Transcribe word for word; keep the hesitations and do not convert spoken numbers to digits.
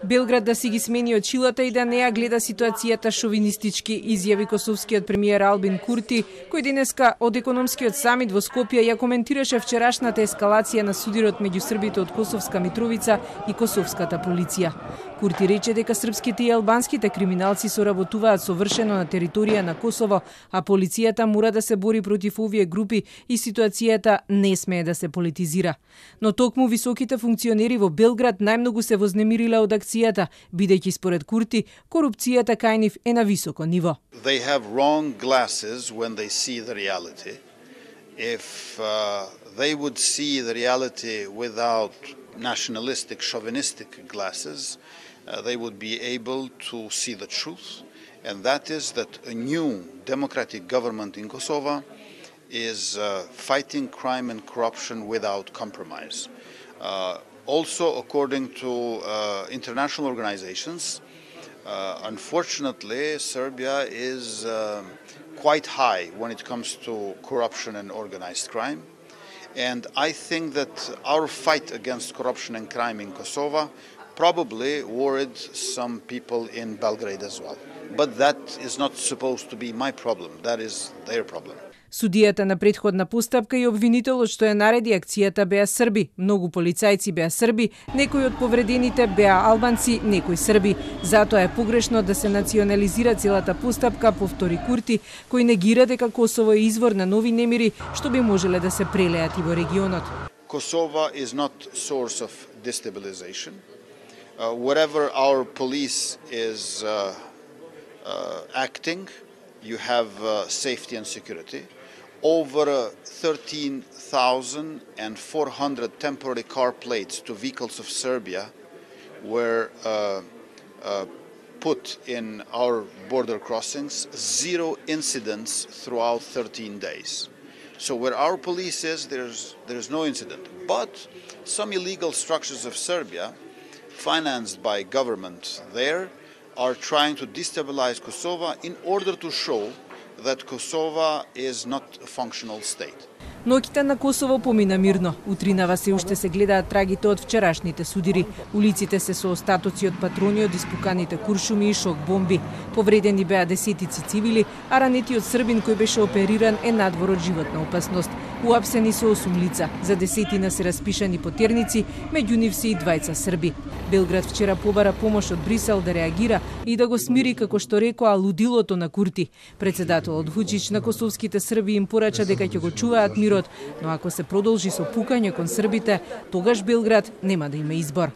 Белград да си ги смени очилата и да не ја гледа ситуацијата шовинистички, изјави косовскиот премиер Албин Курти, кој денеска од економскиот самит во Скопје ја коментираше вчерашната ескалација на судирот меѓу србите од Косовска Митровица и косовската полиција. Курти рече дека српските и албанските криминалци соработуваат совршено на територија на Косово, а полицијата мора да се бори против овие групи и ситуацијата не смее да се политизира. Но токму високите функционери во Белград најмногу се вознемириле од акцијата, бидејќи според Курти корупцијата кај нив е на високо ниво. They have wrong glasses when they see the reality. If uh, they would see the reality without nationalistic, chauvinistic glasses, uh, they would be able to see the truth, and that is that a new democratic government in Kosovo is uh, fighting crime and corruption without compromise. Uh, also, according to uh, international organizations, uh, unfortunately, Serbia is uh, quite high when it comes to corruption and organized crime. And I think that our fight against corruption and crime in Kosovo probably worried some people in Belgrade as well. But that is not supposed to be my problem. That is their problem. Судијата на претходна постапка и обвинителот што ја нареди акцијата беа срби. Многу полицајци беа срби, некои од повредените беа албанци, некои срби. Затоа е погрешно да се национализира целата постапка, повтори Курти, кој негира дека Косово е извор на нови немири што би можеле да се прелеат и во регионот. Kosovo is not source of destabilization. Uh, wherever our police is uh, uh, acting, you have uh, safety and security. Over uh, thirteen thousand four hundred temporary car plates to vehicles of Serbia were uh, uh, put in our border crossings, zero incidents throughout thirteen days. So where our police is, there's, there's no incident. But some illegal structures of Serbia, financed by government there, are trying to destabilize Kosovo in order to show that Kosovo is not a functional state. Ноќта на Косово помина мирно. Утринава се уште се гледаат трагите од вчерашните судири. Улиците се со остатоци од патрони од испуканите куршуми и шок бомби. Повредени беа десетици цивили, а ранетиот србин кој беше опериран е надвор од животна опасност. Уапсени со осум лица, за десетина се распишани потерници, меѓу нив се и двајца срби. Белград вчера побара помош од Брисел да реагира и да го смири, како што рекоа, лудилото на Курти. Председателот Вучич на косовските срби им порача дека ќе го чуваат мирот, но ако се продолжи со пукање кон србите, тогаш Белград нема да има избор.